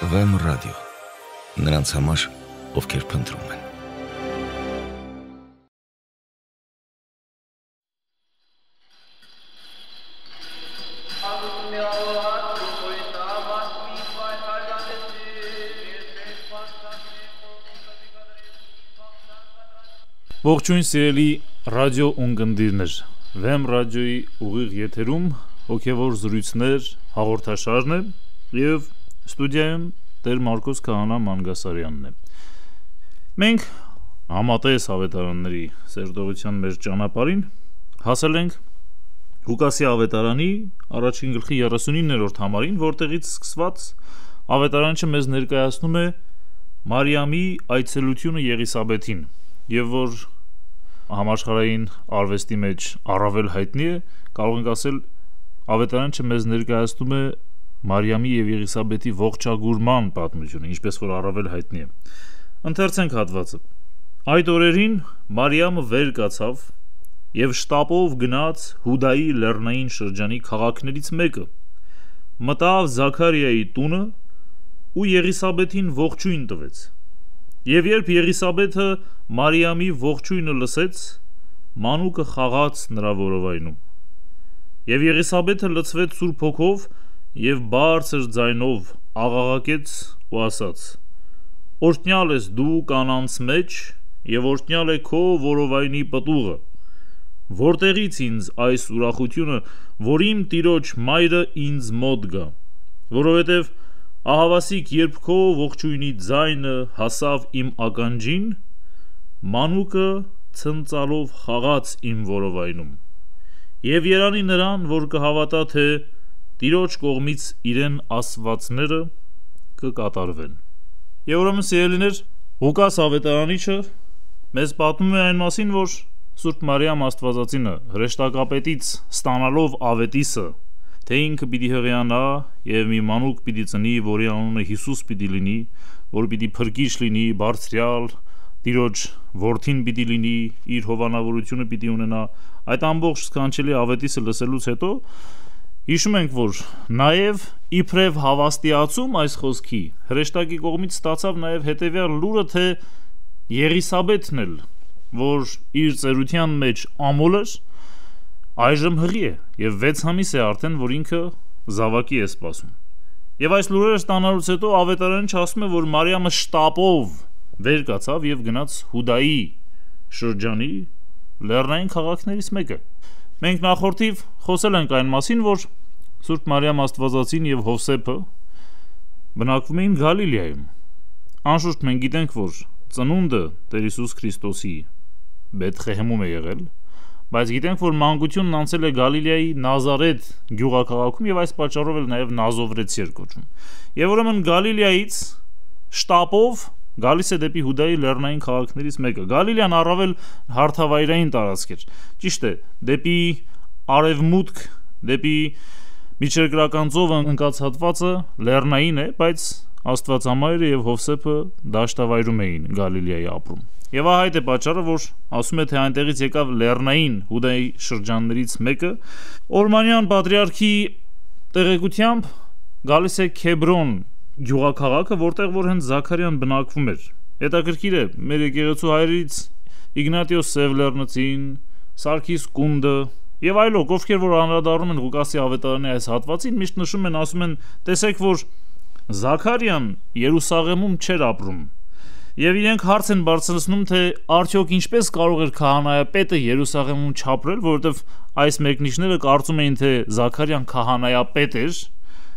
VM ռադիո, նրանց համար, ովքեր փնտրում են։ Ողջույն սիրելի ռադիո ունկնդիրներ, VM ռադիոյի ուղիղ եթերում հոգևոր զրույցներ հաղորդաշարն է և ստուդիայում Տեր Մարկոս Քահանա Մանգասարյանն է։ Մենք համատես ավետարանների սերտողության մեր ճանապարհին հասել ենք Ղուկասի ավետարանի առաջին գլխի 39-րդ համարին, որտեղից սկսված ավետարանչը մեզ ներկայացնում է Մարիամի այցելությունը Եղիսաբեթին, և որ համաշխարհային արվեստի մեջ առավել հայտնի է, կարող ենք ասել ավետարանչը մեզ ներկայացնում է Մարիամի և Եղիսաբեթի ողջագուրման պատմությունը, ինչպես որ առավել հայտնի է։ Ընթերցենք հատվածը։ Այդ օրերին Մարիամը վեր կացավ և շտապով գնաց Հուդայի լեռնային շրջանի քաղաքներից մեկը, մտավ Զաքարիայի տունը ու Եղիսաբեթին ողջույն տվեց։ Եվ երբ Եղիսաբեթը Մարիամի ողջույնը լսեց, մանուկը խաղաց նրա որովայնում։ Եվ Եղիսաբեթը լցվեց Սուրբ Հոգով և բարձր ձայնով աղաղակեց ու ասաց. «Օրհնյալ ես դու կանանց մեջ, և օրհնյալ է քո որովայնի պտուղը, որտեղից ինձ այս ուրախությունը, որ իմ տիրոջ մայրը ինձ մոտ գա, որովհետև ահավասիկ երբ քո ողջույնի ձայնը հասավ իմ ականջին, մանուկը ցնծալով խաղաց իմ որովայնում, և երանի նրան, որ կհավատա, թե Տիրոջ կողմից իրեն ասվածները կկատարվեն»։ Եվ ուրեմն սիրելիներ, Ղուկաս ավետարանիչը մեզ պատմում է այն մասին, որ Սուրբ Մարիամ Աստվածածինը հրեշտակապետից ստանալով ավետիսը, թե ինքը պիտի հղիանա և մի մանուկ պիտի ծնի, որի անունը Հիսուս պիտի լինի, որ պիտի փրկիչ լինի, բարձրյալ Տիրոջ որդին պիտի լինի, իր հովանավորությունը պիտի ունենա, այդ ամբողջ սքանչելի ավետիսը լսելուց հետո հիշում ենք, որ նաև իբրև հավաստիացում այս խոսքի հրեշտակի կողմից ստացավ նաև հետևյալ լուրը, թե Եղիսաբեթն էլ, որ իր ծերության մեջ ամոլ էր, այժմ հղի է և 6 ամիս է արդեն, որ ինքը զավակի է սպասում։ Եվ այս լուրերը ստանալուց հետո ավետարանիչը ասում է, որ Մարիամը շտապով վեր կացավ և գնաց Հուդայի շրջանի լեռնային քաղաքներից մեկը։ Մենք նախորդիվ խոսել ենք այն մասին, որ Սուրբ Մարիամ Աստվածածին և Հովսեփը բնակվում էին Գալիլեայում։ Անշուշտ մենք գիտենք, որ ծնունդը Տեր Հիսուս Քրիստոսի Բեթղեհեմում է եղել, բայց գիտենք, որ մանկությունն անցել է Գալիլեայի Նազարեթ գյուղաքաղաքում և այս պատճառով էլ նաև Նազովրեցի էր կոչվում։ Եվ ուրեմն Գալիլեայից շտապով գալիս է դեպի Հուդայի լեռնային քաղաքներից մեկը։ Գալիլեան առավել հարթավայրային տարածք էր։ Ճիշտ է, դեպի արևմուտք, դեպի միջերկրական ծովը ընկած հատվածը լեռնային է, բայց Աստվածամայրը և Հովսեփը դաշտավայրում էին Գալիլեայի ապրում։ Եվ այդ է պատճառը, որ ասում է, թե այնտեղից եկավ լեռնային Հուդայի շրջաններից մեկը, Օրմանյան պատրիարքի տեղեկությամբ գալիս է Քեբրոն գյուղաքաղաքը, որտեղ որ հենց Զաքարյան բնակվում էր։ Հետաքրքիր է, մեր եկեղեցու հայրից Իգնատիոս Սևլեռնցին, Սարգիս Կունդը եւ այլոք, ովքեր որ անդրադառնում են Ղուկասի ավետարանի այս հատվածին, միշտ նշում են, ասում են, տեսեք, որ Զաքարյան Երուսաղեմում չէր ապրում։ Եվ իրենք հարց են բարձրացնում, թե արդյոք ինչպես կարող էր քահանայապետը Երուսաղեմում չապրել, որովհետև այս մեկնիչները կարծում էին, թե Զաքարյան քահանայապետ էր,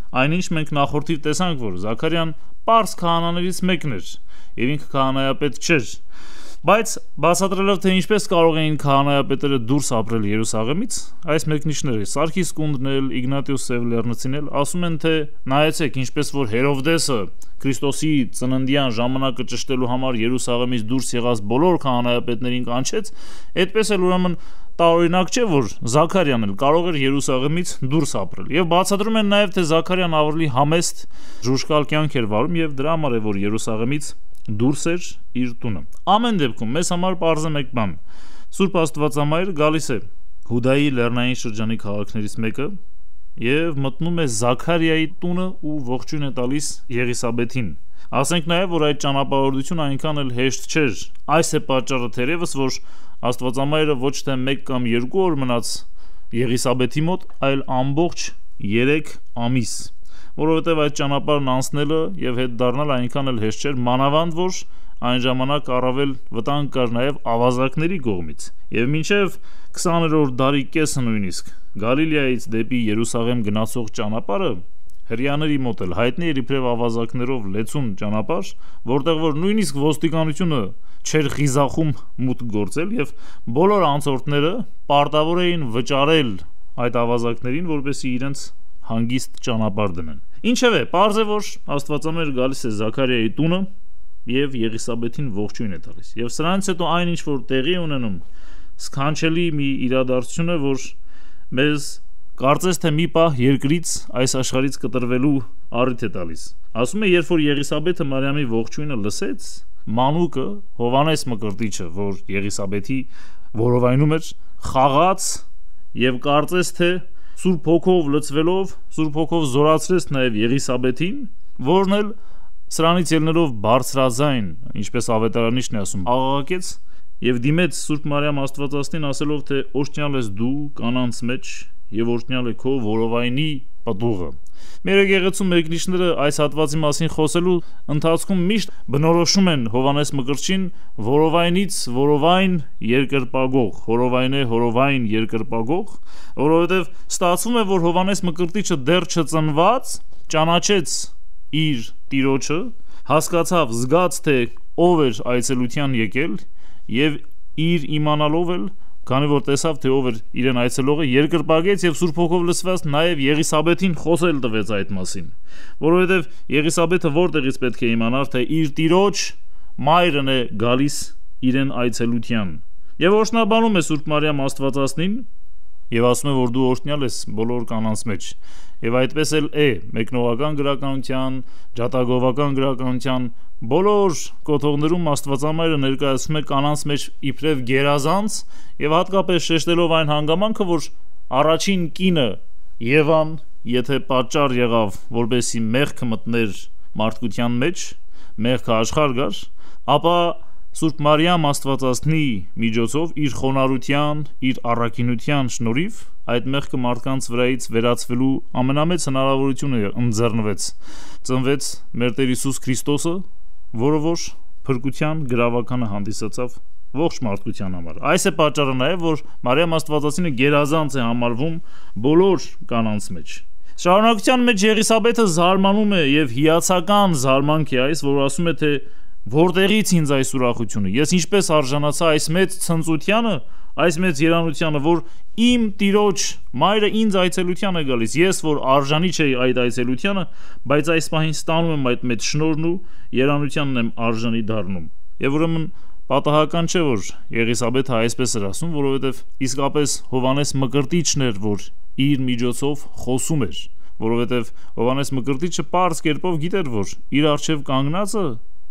այնինչ մենք նախորդիվ տեսանք, որ Զաքարյան պարզ քահանաներից մեկն էր և ինքը քահանայապետ չէր, բայց բացատրելով, թե ինչպես կարող էին քահանայապետերը դուրս ապրել Երուսաղեմից, այս մեկնիչները Սարգիս Կունդն էլ, Իգնատիոս Սևլեռնցին էլ ասում են, թե նայեցեք, ինչպես որ Հերովդեսը Քրիստոսի ծննդյան ժամանակը ճշտելու համար Երուսաղեմից դուրս եղած բոլոր քահանայապետներին կանչեց, այդպես էլ ուրեմն տարօրինակ չէ, որ Զաքարյան էլ կարող էր Երուսաղեմից դուրս ապրել։ Եվ բացատրում են նաև, թե Զաքարյան ավելի համեստ ժուժկալ կյանք էր վարում և դրա համար է, որ Երուսաղեմից դուրս էր իր տունը։ Ամեն դեպքում մեզ համար պարզ է մեկ բան. Սուրբ Աստվածամայրը գալիս է Հուդայի լեռնային շրջանի քաղաքներից մեկը եւ մտնում է Զաքարիայի տունը ու ողջույն է տալիս Եղիսաբեթին։ Ասենք նաեւ, որ այդ ճանապարհորդությունը այնքան էլ հեշտ չէր։ Այս է պատճառը թերևս, որ Աստվածամայրը ոչ թե 1 կամ 2 օր մնաց Եղիսաբեթի մոտ, այլ ամբողջ 3 ամիս, որովհետև այդ ճանապարհն անցնելը եւ հետ դառնալ այնքան էլ հեշտ չէր, մանավանդ որ այն ժամանակ առավել վտանգ կար նաեւ ավազակների կողմից։ Եվ մինչև 20-րդ դարի կեսը նույնիսկ Գալիլեայից դեպի Երուսաղեմ գնացող ճանապարհը հրեաների մոտ էլ հայտնի էր իբրև ավազակներով լեցուն ճանապարհ, որտեղ որ նույնիսկ ոստիկանությունը չէր խիզախում մուտք գործել եւ բոլոր անցորդները պարտավոր էին վճարել այդ ավազակներին, որպեսզի իրենց հանգիստ ճանապարհ դնեն։ Ինչևէ, պարզ է, որ Աստվածամայրը գալիս է Զաքարիայի տունը եւ Եղիսաբեթին ողջույն է տալիս։ Եվ սրանից հետո այն ինչ որ տեղի ունենում, սքանչելի մի իրադարձություն է, որ մեզ կարծես թե մի պահ երկրից այս աշխարհից կտրվելու առիթ է տալիս։ Ասում է, երբ որ Եղիսաբեթը Մարիամի ողջույնը լսեց, մանուկը Հովանես Մկրտիչը, որ Եղիսաբեթի որովայնում էր, խաղաց եւ կարծես թե Սուրբ Հոգով լցվելով, Սուրբ Հոգով զորացրեց նաեւ Եղիսաբեթին, որն էլ սրանից ելնելով բարձրաձայն, ինչպես ավետարանիչն է ասում, աղաղակեց եւ դիմեց Սուրբ Մարիամ Աստվածածնին ասելով, թե օրհնյալ ես դու կանանց մեջ եւ օրհնյալ է քո որովայնի պտուղը։ Մեր եկեղեցու մեկնիչները այս հատվածի մասին խոսելու ընթացքում միշտ բնորոշում են Հովանես Մկրտչին որովայնից որովայն երկրպագող, հորովայն երկրպագող, որովհետեւ ստացվում է, որ Հովանես Մկրտիչը դեռ չծնված ճանաչեց իր տիրոջը, հասկացավ, զգաց, թե ով էր այցելության եկել եւ իր իմանալով էլ, քանի որ տեսավ, թե ով էր իրեն այցելողը, երկրպագեց եւ Սուրբ Հոգով լցված նաեւ Եղիսաբեթին խոսել տվեց այդ մասին, որովհետեւ Եղիսաբեթը որտեղից պետք է իմանար, թե իր տիրոջ մայրն է գալիս իրեն այցելության։ Եվ օրհնաբանում է Սուրբ Մարիամ Աստվածածնին եւ ասում է, որ դու օրհնյալ ես բոլոր կանանց մեջ։ Եվ այդպես էլ է մեկնողական գրականության, ջատագովական գրականության բոլոր կոթողներում Աստվածամայրը ներկայացնում է կանանց մեջ իբրև գերազանց եւ հատկապես շեշտելով այն հանգամանքը, որ առաջին կինը Եվան, եթե պատճառ եղավ, որպեսի մեղքը մտներ մարդկության մեջ, մեղքը աշխարհ գար, ապա Սուրբ Մարիամ Աստվածածնի միջոցով իր խոնարհության, իր առաքինության շնորհիվ այդ մեղքը մարդկանց վրայից վերացվելու ամենամեծ հնարավորությունը ընձեռնվեց։ Ծնվեց մեր Տեր Հիսուս Քրիստոսը, որը որ փրկության գրավականը հանդիսացավ ողջ մարդկության համար։ Այս է պատճառը նաև, որ Մարիամ Աստվածածինը գերազանց է համարվում բոլոր կանանց մեջ։ Շարունակության մեջ Եղիսաբեթը զարմանում է եւ հիացական զարմանք է այս, որ ասում է, թե որտեղից ինձ այս ուրախությունը, ես ինչպես արժանացա այս մեծ ցնծությանը, այս մեծ երանությանը, որ իմ տիրոջ մայրը ինձ այցելության է գալիս, ես որ արժանի չէի այդ այցելությանը, բայց այս պահին ստանում եմ այդ մեծ շնորհն ու երանությանն եմ արժանի դառնում։ Եվ ուրեմն պատահական չէ, որ Եղիսաբեթը այսպես էր ասում, որովհետև իսկապես Հովանես Մկրտիչն էր, որ իր միջոցով խոսում էր, որովհետև Հովանես Մկրտիչը պարզ կերպով գիտեր, որ իր առջև կանգնածը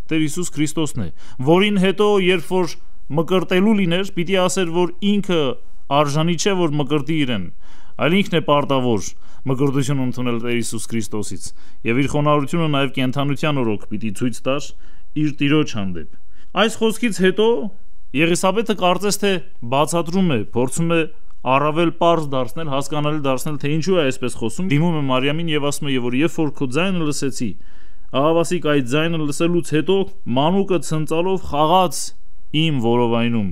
Տեր Հիսուս Քրիստոսն է, որին հետո երբ որ մկրտելու լիներ, պիտի ասեր, որ ինքը արժանի չէ, որ մկրտի իրեն, այլ ինքն է պարտավոր մկրտություն ընդունել Տեր Հիսուս Քրիստոսից, եւ իր խոնարհությունը նաեւ կենթանության օրոք պիտի ցույց տար իր տիրոջ հանդեպ։ Այս խոսքից հետո Եղիսաբեթը կարծես թե բացատրում է, փորձում է առավել պարզ դարձնել, հասկանալի դարձնել, թե ինչու է այսպես խոսում, դիմում է Մարիամին եւ ասում է, որ երբ որ քո ձայնը լսեցի, աղավասիկ այդ ձայնը լսելուց հետո մանուկը ցնծալով խաղաց իմ որովայնում։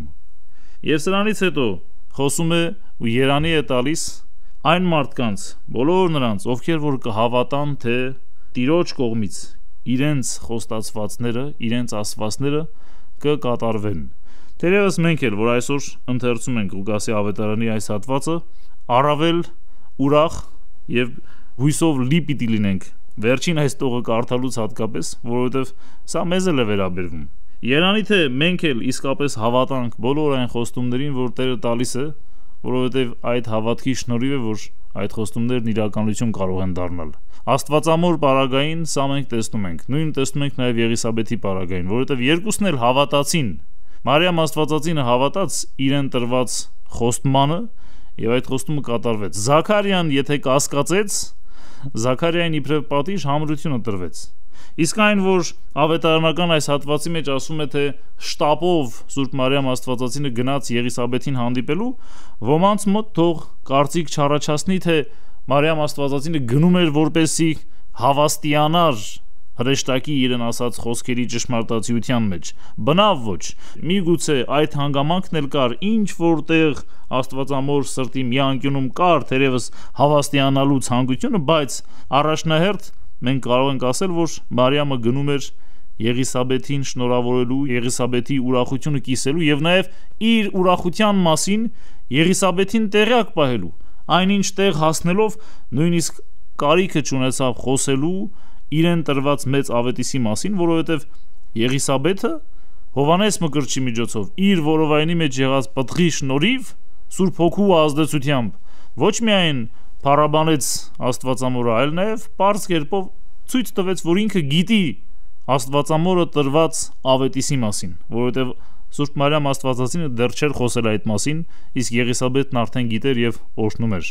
Եվ սրանից հետո խոսում է ու երանի է տալիս այն մարդկանց, բոլոր նրանց, ովքեր որ կհավատան, թե Տիրոջ կողմից իրենց խոստացվածները, իրենց ասվածները կկատարվեն։ Թերևս մենք էլ, որ այսօր ընթերցում ենք Ղուկասի ավետարանի այս հատվածը, առավել ուրախ եւ հույսով լի պիտի լինենք վերջին այս տողը կարդալուց հատկապես, որովհետև սա մեզ էլ է վերաբերվում։ Երանի թե մենք էլ իսկապես հավատանք բոլոր այն խոստումներին, որ Տերը տալիս է, որովհետև այդ հավատքի շնորհիվ է, որ այդ խոստումներն իրականություն կարող են դառնալ։ Աստվածամոր պարագային սա մենք տեսնում ենք, նույն տեսնում ենք նաև Եղիսաբեթի պարագային, որովհետև երկուսն էլ հավատացին։ Մարիամ Աստվածածինը հավատաց իրեն տրված խոստմանը եւ այդ խոստումը կատարվեց։ Զաքարիան եթե կասկածեց, Զաքարիային իբրև պատիժ համրությունը տրվեց։ Իսկ այն, որ ավետարանական այս հատվածի մեջ ասում է, թե շտապով Սուրբ Մարիամ Աստվածածինը գնաց Եղիսաբեթին հանդիպելու, ոմանց մոտ թող կարծիք չառաջացնի, թե Մարիամ Աստվածածինը գնում էր որպեսի հավաստիանար հրեշտակի իրեն ասած խոսքերի ճշմարտացիության մեջ։ Բնավ ոչ, միգուցե այդ հանգամանքն էլ կար, ինչ որտեղ Աստվածամոր սրտի մի անկյունում կար թերևս հավաստիանալու ցանկությունը, բայց առաջնահերթ մենք կարող ենք ասել, որ Մարիամը գնում էր Եղիսաբեթին շնորհավորելու, Եղիսաբեթի ուրախությունը կիսելու եւ նաեւ իր ուրախության մասին Եղիսաբեթին տեղյակ պահելու, այնինչ տեղ հասնելով նույնիսկ կարիքը չունեցավ խոսելու իրեն տրված մեծ ավետիսի մասին, որովհետև Եղիսաբեթը Հովանես Մկրտչի միջոցով իր որովայնի մեջ եղած պտղի շնորհիվ Սուրբ Հոգու ազդեցությամբ ոչ միայն փառաբանեց Աստվածամորը, այլ նաև պարզ կերպով ցույց տվեց, որ ինքը գիտի Աստվածամորը տրված ավետիսի մասին, որովհետև Սուրբ Մարիամ Աստվածածինը դեռ չէր խոսել այդ մասին, իսկ Եղիսաբեթն արդեն գիտեր եւ օրհնում էր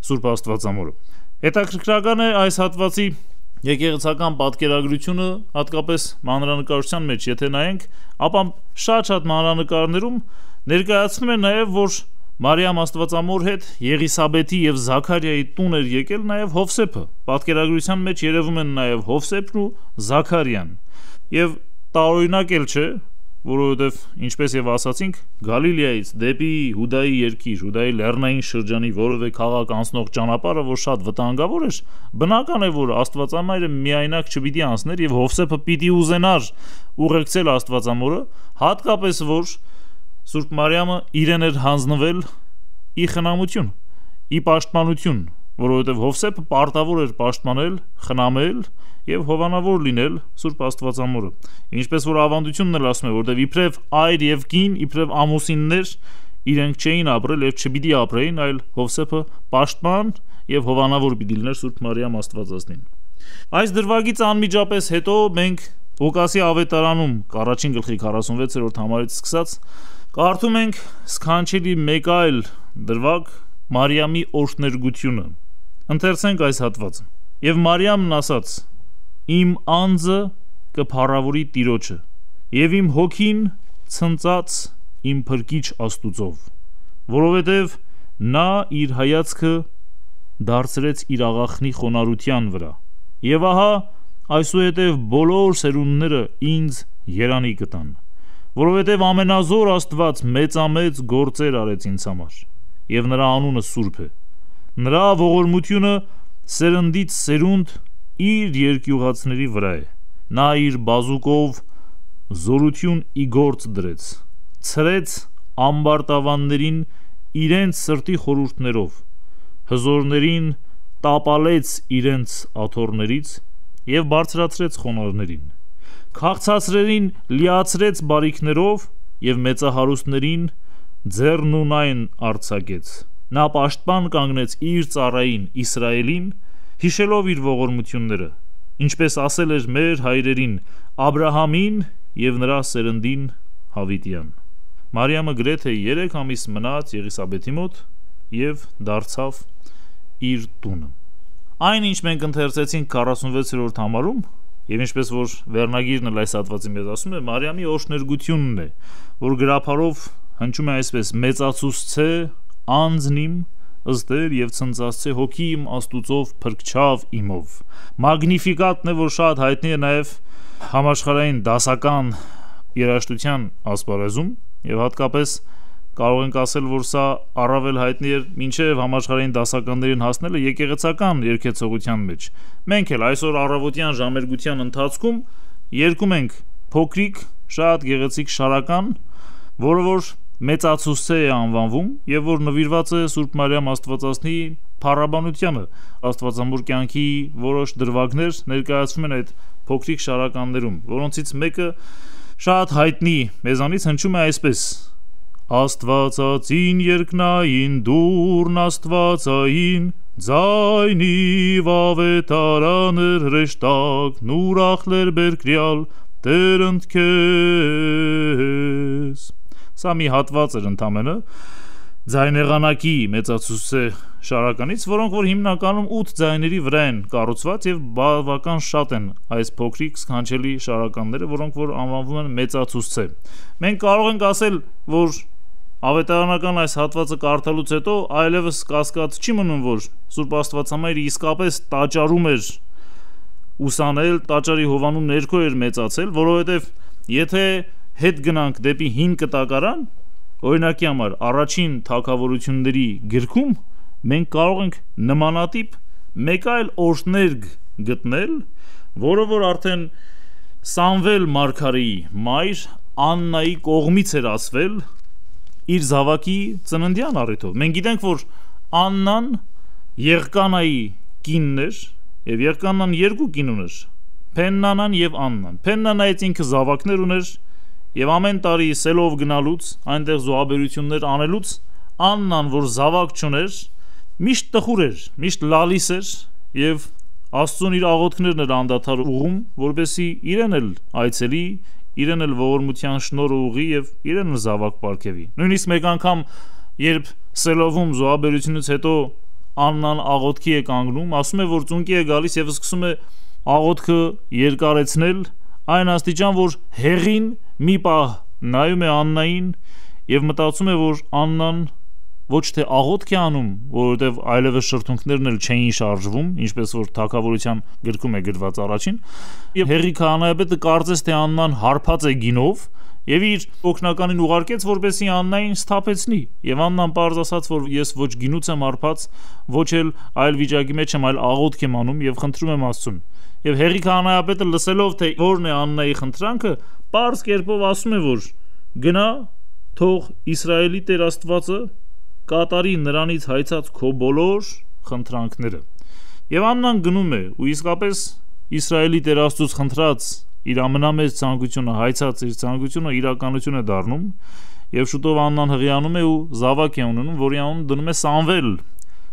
Սուրբ Աստվածամորը։ Հետաքրքրական է այս հատվածի եկեղեցական պատկերագրությունը, հատկապես մանրանկարչության մեջ, եթե նայենք, ապա շատ մանրանկարներում ներկայացնում է նաև, որ Մարիամ Աստվածամոր հետ Եղիսաբեթի եւ Զաքարիայի տուն էր եկել նաև Հովսեփը։ Պատկերագրության մեջ երևում են նաև Հովսեփն ու Զաքարիան։ Եվ տարօրինակ էլ չէ, որովհետև ինչպես եւ ասացինք, Գալիլեայից դեպի Հուդայի երկիր, Հուդայի լեռնային շրջանի որևէ քաղաք անցնող ճանապարհը, որ շատ վտանգավոր էր, բնական է, որ Աստվածամայրը միայնակ չպիտի անցներ եւ Հովսեփը պիտի ուզենար ուղեկցել Աստվածամորը, հատկապես որ Սուրբ Մարիամը իրեն էր հանձնվել ի խնամություն, ի պաշտպանություն, որովհետև Հովսեփը պարտավոր էր պաշտպանել, խնամել եւ հովանավոր լինել Սուրբ Աստվածամորը։ Ինչպես որ ավանդությունն էլ ասում է, որտեղ իբրև այր եւ կին, իբրև ամուսիններ իրենք չէին ապրել եւ չպիտի ապրեին, այլ Հովսեփը պաշտպան եւ հովանավոր պիտի լիներ Սուրբ Մարիամ Աստվածածնին։ Այս դրվագից անմիջապես հետո մենք Ղուկասի ավետարանում առաջին գլխի 46-րդ համարից սկսած կարդում ենք սքանչելի մեկ այլ դրվագ Մարիամի օրհներգությունը։ Ընթերցենք այս հատվածը։ Եվ Մարիամն ասաց. Իմ անձը կփառավորի Տիրոջը, եւ իմ հոգին ցնծած իմ փրկիչ Աստուծով, որովհետև նա իր հայացքը դարձրեց իր աղախնի խոնարհության վրա, եւ ահա այսուհետև բոլոր սերունդները ինձ երանի կտան, որովհետև ամենազոր Աստված մեծամեծ գործեր արեց ինձ համար, եւ նրա անունը սուրբ է, նրա ողորմությունը սերնդից սերունդ իր երկյուղացների վրա է, նա իր բազուկով զորություն ի գործ դրեց, ցրեց ամբարտավաններին իրենց սրտի խորհուրդներով, հզորներին տապալեց իրենց աթոռներից եւ բարձրացրեց խոնարհներին, քաղցածրերին լիացրեց բարիքներով եւ մեծահարուստներին ձեռնունայն արձակեց, նա պաշտպան կանգնեց իր ծառային Իսրայելին, հիշելով իր ողորմությունները, ինչպես ասել էր մեր հայրերին Աբրահամին եւ նրա սերնդին Հավիտյան։ Մարիամը գրեթե 3 ամիս մնաց Եղիսաբեթի մոտ եւ դարձավ իր տունը։ Այն ինչ մենք ընթերցեցինք 46-րդ համարում, եւ ինչպես որ վերնագիրն էլ այս հատվածի մեջ ասում է, Մարիամի օրհներգությունն է, որ գրափարով հնչում է այսպես. մեծացուցցե անձնիմ ըստեր եւ ցնծացցե հոգի իմ Աստուծով փրկչավ իմով։ Մագնիֆիկատն է, որ շատ հայտնի է նաեւ համաշխարհային դասական երաժշտության ասպարեզում եւ հատկապես կարող ենք ասել, որ սա առավել հայտնի էր մինչև համաշխարհային դասականներին հասնելը եկեղեցական երգեցողության մեջ։ Մենք էլ այսօր առավոտյան ժամերգության ընթացքում երգում ենք փոքրիկ, շատ գեղեցիկ շարական, որը որ մեծացուցե է անվանվում եւ որ նվիրված է Սուրբ Մարիամ Աստվածածնի փառաբանությանը։ Աստվածամոր կյանքի որոշ դրվագներ ներկայացվում են այդ փոքրիկ շարականներում, որոնցից մեկը շատ հայտնի մեզանից հնչում է այսպես. Աստվածածին երկնային դուրն Աստվածային ձայնի վավետարաներ հրեշտակ նուրախլեր բերկրյալ տերընդ քեզ։ Սա մի հատված էր ընդամենը, ձայնեղանակի մեծացուցե շարականից, որոնք որ հիմնականում 8 ձայների վրա են կառուցված եւ բավական շատ են այս փոքրիկ սքանչելի շարականները, որոնք որ անվանվում են մեծացուցե։ Մենք կարող ենք ասել, որ ավետարանական այս հատվածը կարդալուց հետո այլևս կասկած չի մնում, որ Սուրբ Աստվածամայրը իսկապես տաճարում էր ուսանել, տաճարի հովանում ներքո էր մեծացել, որովհետև եթե հետ գնանք դեպի հին կտակարան, օրինակի համար առաջին թագավորությունների գրքում մենք կարող ենք նմանատիպ մեկ այլ օրհներգ գտնել, որը որ արդեն Սամվել մարգարեի մայր Աննայի կողմից էր ասվել իր զավակի ծննդյան առիթով։ Մենք գիտենք, որ Աննան Եղկանայի կինն էր, եւ Եղկանան երկու կին ուներ՝ Փեննանան եւ Աննան։ Փեննանայից ինքը զավակներ ուներ, եւ ամեն տարի սելով գնալուց, այնտեղ զոհաբերություններ անելուց, Աննան, որ զավակ չուներ, միշտ տխուր էր, միշտ լալիս էր եւ Աստծուն իր աղոթքներն էր անդադար ուղում, որպեսզի իրեն էլ այցելի, իրեն էլ ողորմության շնորհը ուղի եւ իրեն էլ զավակ պարգևի։ Նույնիսկ մեկ անգամ, երբ սելովում զոհաբերությունից հետո Աննան աղոթքի է կանգնում, ասում է, որ ծունկի է գալիս եւ սկսում է աղոթքը երկարեցնել այն աստիճան, որ հեղին մի պահ նայում է Աննային եւ մտածում է, որ Աննան ոչ թե աղոթք է անում, որովհետև այլևս շրթունքներն էլ չէին շարժվում, ինչպես որ թագավորության գրքում է գրված առաջին, եւ հեղի քահանայապետը կարծես թե Աննան հարբած է գինով եւ իր օգնականին ուղարկեց, որպեսզի Աննային սթափեցնի, եւ Աննան պարզ ասաց, որ ես ոչ գինուց եմ հարբած, ոչ էլ այլ վիճակի մեջ եմ, այլ աղոթք եմ անում եւ խնդրում եմ Աստծուն։ Եվ հեղի քահանայապետը լսելով թե որն է Աննայի խնդրանքը, պարզ կերպով ասում է, որ գնա, թող Իսրայելի Տեր Աստվածը կատարի նրանից հայցած քո բոլոր խնդրանքները։ Եվ Աննան գնում է ու իսկապես Իսրայելի Տեր Աստծուց խնդրած իր ամենամեծ ցանկությունը, հայցած իր ցանկությունը իրականություն է դառնում, եւ շուտով Աննան հղիանում է ու զավակ է ունենում, որի անուն դնում է Սամվել։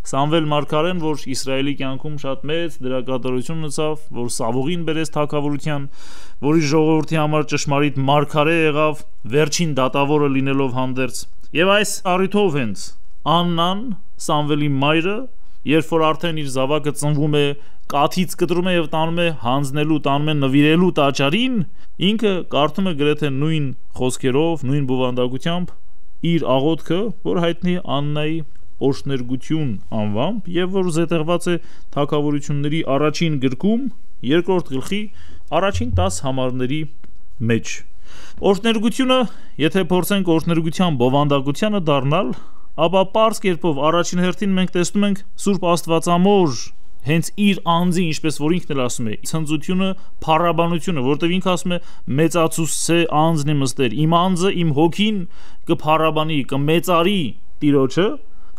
Սամվել մարգարեն, որ Իսրայելի կյանքում շատ մեծ դերակատարություն ունեցավ, որ Սավուղին բերեց թագավորության, որի ժողովրդի համար ճշմարիտ մարգարե եղավ, վերջին դատավորը լինելով հանդերձ։ Եվ այս առիթով հենց Աննան, Սամվելի մայրը, երբ որ արդեն իր զավակը ծնվում է, կաթից կտրում է եւ տանում է հանձնելու, տանում է նվիրելու տաճարին, ինքը կարդում է գրեթե նույն խոսքերով, նույն բովանդակությամբ իր աղոթքը, որ հայտնի Աննայի օրհներգություն անվամբ եւ որ զետեղված է թագավորությունների առաջին գրքում, երկրորդ գլխի առաջին 10 համարների մեջ։ Օրհներգությունը, եթե փորձենք օրհներգության բովանդակությանը դառնալ, ապա պարզ կերպով առաջին հերթին մենք տեսնում ենք Սուրբ Աստվածամոր հենց իր անձի, ինչպես որ ինքն էլ ասում է, ցնծությունը, փառաբանությունը, որտեղ ինքը ասում է մեծացուցե անձն իմ ըստեր, իմ անձը, իմ հոգին կփառաբանի, կմեծարի Տիրոջը,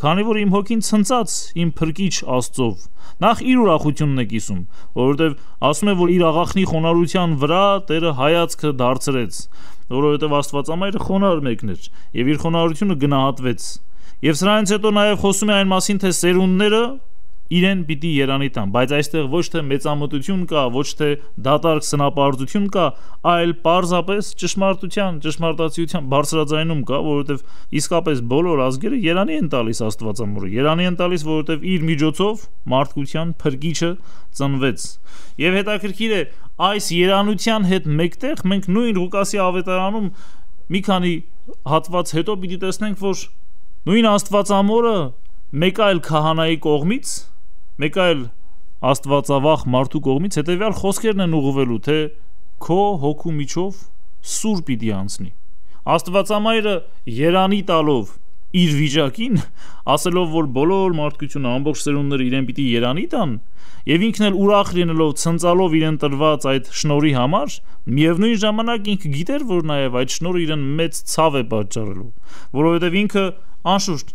քանի որ իմ հոգին ցնծած իմ փրկիչ Աստծով։ Նախ իր ուրախությունն է կիսում, որովհետև ասում է, որ իր աղախնի խոնարհության վրա Տերը հայացքը դարձրեց, որովհետև Աստվածամայրը խոնարհ մեկն էր եւ իր խոնարհությունը գնահատվեց։ Եվ սրանից հետո նաև խոսում է այն մասին, թե սերունդները իրեն պիտի երանի տան, բայց այստեղ ոչ թե մեծամտություն կա, ոչ թե դատարկ սնապարծություն կա, այլ պարզապես ճշմարտության, ճշմարտացիության բարձրաձայնում կա, որովհետև իսկապես բոլոր ազգերը երանի են տալիս Աստվածամորը, երանի են տալիս, որովհետև իր միջոցով մարդկության փրկիչը ծնվեց։ Եվ հետաքրքիր է, այս երանության հետ մեկտեղ մենք նույն Ղուկասի ավետարանում մի քանի հատված հետո պիտի տեսնենք, որ նույն Աստվածամորը մեկ այլ քահանայի կողմից, մեկ այլ Աստվածավախ մարդու կողմից հետևյալ խոսքերն են ուղղվելու, թե քո հոգու միջով սուր պիտի անցնի։ Աստվածամայրը երանի տալով իր վիճակին, ասելով, որ բոլոր մարդկությունը, ամբողջ սերունդները իրեն պիտի երանի տան, եւ ինքն էլ ուրախ լինելով, ցնծալով իրեն տրված այդ շնորհի համար, միևնույն ժամանակ ինքը գիտեր, որ նաեւ այդ շնորհը իրեն մեծ ցավ է պատճառելու, որովհետեւ ինքը անշուշտ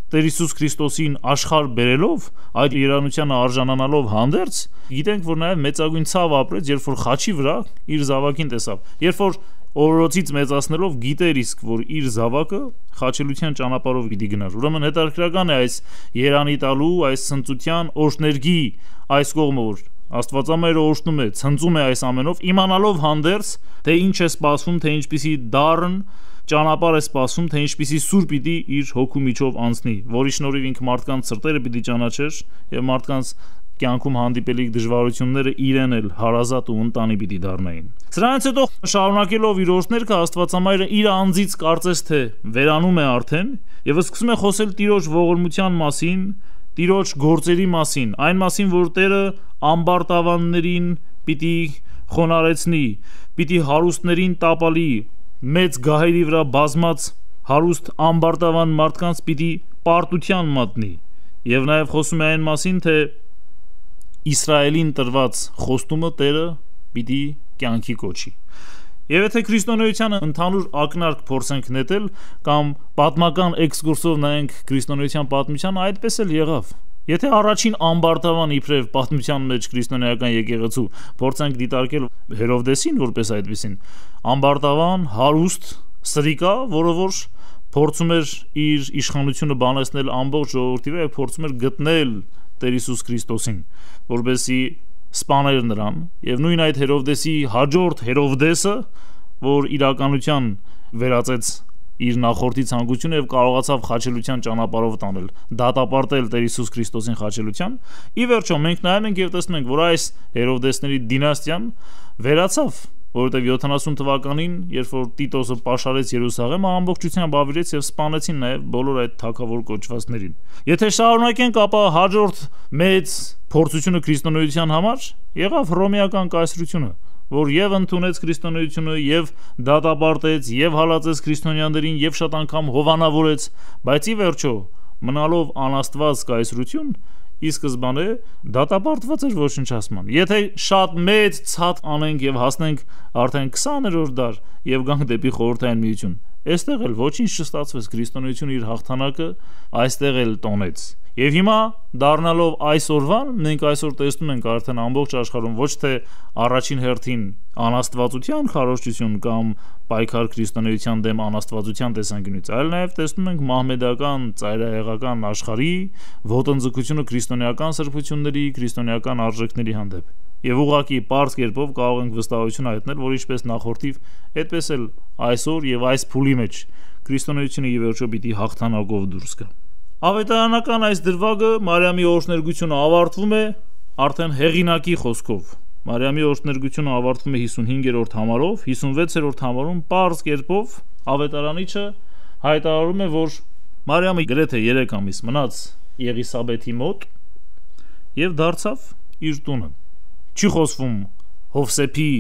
Տեր Հիսուս Քրիստոսին աշխարհ բերելով, այդ երանությանը արժանանալով հանդերձ, գիտենք, որ նաև մեծագույն ցավ ապրեց, երբ որ խաչի վրա իր զավակին տեսավ։ Երբ որ օրորոցից մեծացնելով գիտեր իսկ, որ իր զավակը խաչելության ճանապարհով պիտի գնար։ Ուրեմն հետաքրքրական է այս երանի տալու, այս ցնծության օրհներգի այս կողմը, որ Աստվածամայրը օրհնում է, ցնծում է այս ամենով, իմանալով հանդերձ, թե ինչ է սպասվում, թե ինչպիսի դառն ճանապարհ է սպասում, թե ինչպիսի սուր պիտի իր հոգու միջով անցնի, որի շնորհիվ ինքը մարդկանց սրտերը պիտի ճանաչեր եւ մարդկանց կյանքում հանդիպելիք դժվարությունները իրեն էլ հարազատ ու ընտանի պիտի դառնային։ Սրանից հետո շարունակելով իր օրհներքը Աստվածամայրը իր անձից կարծես թե վերանում է արդեն եւ սկսում է խոսել Տիրոջ ողորմության մասին, Տիրոջ գործերի մասին, այն մասին, որ Տերը ամբարտավաններին պիտի խոնարեցնի, պիտի հարուստներին տապալի, մեծ գահերի վրա բազմած հարուստ ամբարտավան մարդկանց պիտի պարտության մատնի եւ նաեւ խոսում է այն մասին, թե Իսրայելին տրված խոստումը Տերը պիտի կյանքի կոչի։ Եվ եթե քրիստոնեության ընդհանուր ակնարկ փորձենք նետել կամ պատմական էքսկուրսով նայենք քրիստոնեության պատմությանը, այդպես էլ եղավ։ Եթե առաջին ամբարտավան իբրև պատմության մեջ քրիստոնեական եկեղեցու փորձենք դիտարկել Հերովդեսին որպես այդպեսին, ամբարտավան, հարուստ, սրիկա, որը որ փորձում էր իր իշխանությունը բանացնել ամբողջ ժողովրդի վրա եւ փորձում էր գտնել Տեր Հիսուս Քրիստոսին, որպեսզի սպաներ նրան, եւ նույն այդ Հերովդեսի հաջորդ Հերովդեսը, որ իրականության վերածեց իր նախորդի ցանկությունը եւ կարողացավ խաչելության ճանապարհով տանել, դատապարտել Տեր Հիսուս Քրիստոսին խաչելության, ի վերջո մենք նայում ենք եւ տեսնում ենք, որ այս Հերովդեսների դինաստիան վերացավ, որովհետև 70 թվականին, երբ որ Տիտոսը պաշարեց Երուսաղեմը, ամբողջությամբ ավիրեց եւ սպանեցին նաեւ բոլոր այդ թագավոր կոչվածներին։ Եթե շարունակենք, ապա հաջորդ մեծ փորձությունը քրիստոնեության համար եղավ Հռոմեական կայսրությունը, որ եւ ընդունեց քրիստոնեությունը, եւ դատապարտեց, եւ հալածեց քրիստոնյաներին, եւ շատ անգամ հովանավորեց, բայց ի վերջո մնալով անաստված կայսրություն, ի սկզբանե դատապարտված էր ոչնչացման։ Եթե շատ մեծ ցած անենք եւ հասնենք արդեն 20-րդ դար եւ գանք դեպի խորհրդային միություն, այստեղ էլ ոչինչ չստացվեց, քրիստոնեությունը իր հաղթանակը այստեղ էլ տոնեց։ Եվ հիմա դառնալով այսօրվան, մենք այսօր տեսնում ենք արդեն ամբողջ աշխարհում ոչ թե առաջին հերթին անաստվածության քարոզչություն կամ պայքար քրիստոնեության դեմ անաստվածության տեսանկյունից, այլ նաև տեսնում ենք մահմեդական, ծայրահեղական աշխարհի ոտնձգությունը քրիստոնեական սրբությունների, քրիստոնեական արժեքների հանդեպ։ Եվ ուղղակի պարզ կերպով կարող ենք վստահություն հայտնել, որ ինչպես նախորդիվ, այդպես էլ այսօր եւ այս փուլի մեջ քրիստոնեությունը ի վերջո պիտի հաղթանակով դուրս գա։ Ավետարանական այս դրվագը Մարիամի օրհներգությունը ավարտվում է արդեն հեղինակի խոսքով։ Մարիամի օրհներգությունը ավարտվում է 55-րդ համարով, 56-րդ համարում պարզ կերպով ավետարանիչը հայտարարում է, որ Մարիամը գրեթե 3 ամիս մնաց Եղիսաբեթի մոտ եւ դարձավ իր տունը։ Չի խոսվում Հովսեփի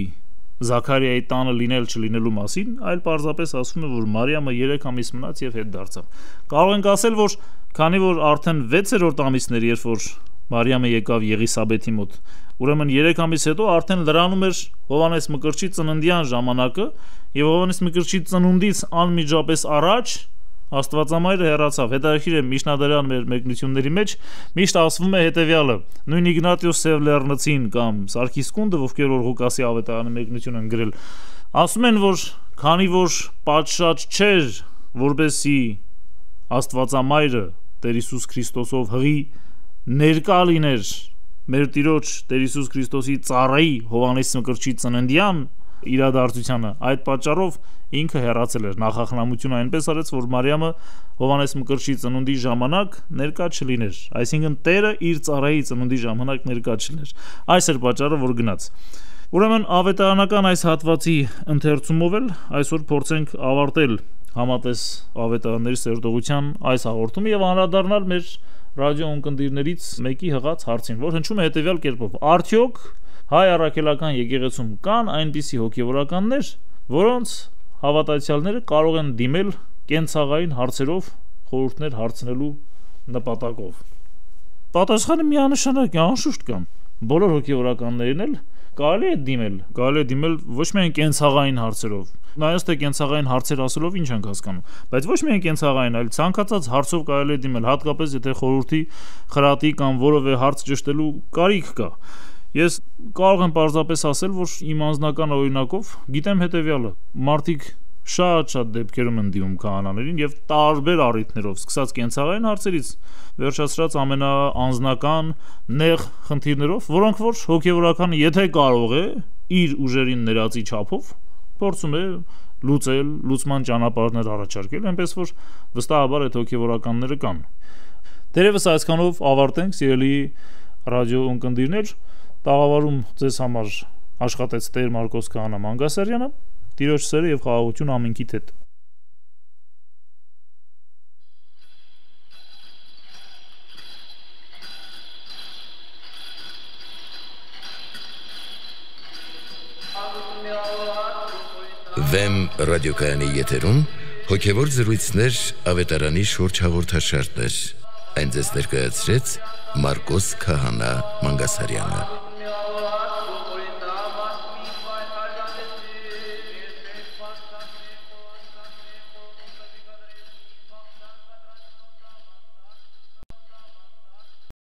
Զաքարիայի տանը լինել չլինելու մասին, այլ պարզապես ասում է, որ Մարիամը 3 ամիս մնաց եւ հետ դարձավ։ Կարող ենք ասել, որ քանի որ արդեն 6-րդ ամիսն էր, երբ որ Մարիամը եկավ Եղիսաբեթի մոտ, ուրեմն 3 ամիս հետո արդեն լրանում էր Հովանես Մկրտչի ծննդյան ժամանակը, եւ Հովանես Մկրտչի ծնունդից անմիջապես առաջ Աստվածամայրը հեռացավ։ Հետաքրքիր է, Միշնադարյան մեր մեկնությունների մեջ միշտ ասվում է հետևյալը. նույն Իգնատիոս Սևլեռնցին կամ Սարգիս Կունդը, ովքեր որ Ղուկասի ավետարանի մեկնություն են գրել, ասում են, որ քանի որ պատշաճ չէր, որբեսի Աստվածամայրը Տեր Հիսուս Քրիստոսով հղի ներկա լիներ մեր Տիրոջ Տեր Հիսուս Քրիստոսի ծառայի Հովանես Մկրտչի ծննդյան իրադարձությանը, այդ պատճառով ինքը հեռացել էր, նախախնամությունը այնպես արեց, որ Մարիամը Հովանես Մկրտչի ծնունդի ժամանակ ներկա չլիներ, այսինքն Տերը իր ծառայի ծնունդի ժամանակ ներկա չլիներ։ Այս էր պատճառը, որ գնաց։ Ուրեմն ավետարանական այս հատվածի ընթերցումով էլ այսօր փորձենք ավարտել համատես ավետարանների սերտողության այս հաղորդումը եւ անդրադառնալ մեր ռադիո ունկնդիրներից մեկի հղած հարցին, որ հնչում է հետեւյալ կերպով. արդյոք հայ առաքելական եկեղեցում կան այնպիսի հոգևորականներ, որոնց հավատացյալները կարող են դիմել կենցաղային հարցերով խորհուրդներ հարցնելու նպատակով։ Պատասխանը միանշանակ է, անշուշտ կան։ Բոլոր հոգևորականներին էլ կարելի է դիմել ոչ միայն կենցաղային հարցերով։ Նայած թե կենցաղային հարցեր ասելով ինչ ենք հասկանում, բայց ոչ միայն կենցաղային, այլ ցանկացած հարցով կարելի է դիմել, հատկապես եթե խորհրդի, խրատի կամ որևէ հարց ճշտելու կարիք կա։ Ես կարող եմ պարզապես ասել, որ իմ անձնական օրինակով գիտեմ հետևյալը. մարդիկ շատ դեպքերում են դիմում քահանաներին եւ տարբեր առիթներով, սկսած կենցաղային հարցերից, վերջացրած ամենաանձնական նեղ խնդիրներով, որոնք որ հոգեվորականը եթե կարող է իր ուժերին ներածի չափով փորձում է լուծել, լուծման ճանապարհներ առաջարկել, այնպես որ վստահաբար այդ հոգևորականները կան։ Դերևս այսքանով ավարտենք, սիրելի ռադիո ունկնդիրներ, տաղավարում ձեզ համար աշխատեց Տեր Մարկոս Քահանա Մանգասարյանը, Տիրոջ սերը եւ խաղաղություն ամենքիդ հետ։ Վեմ ռադիոկայանի եթերում հոգևոր զրույցներ ավետարանի շուրջ հաղորդաշարներ։ Այն ձեզ ներկայացրեց Մարկոս Քահանա Մանգասարյանը։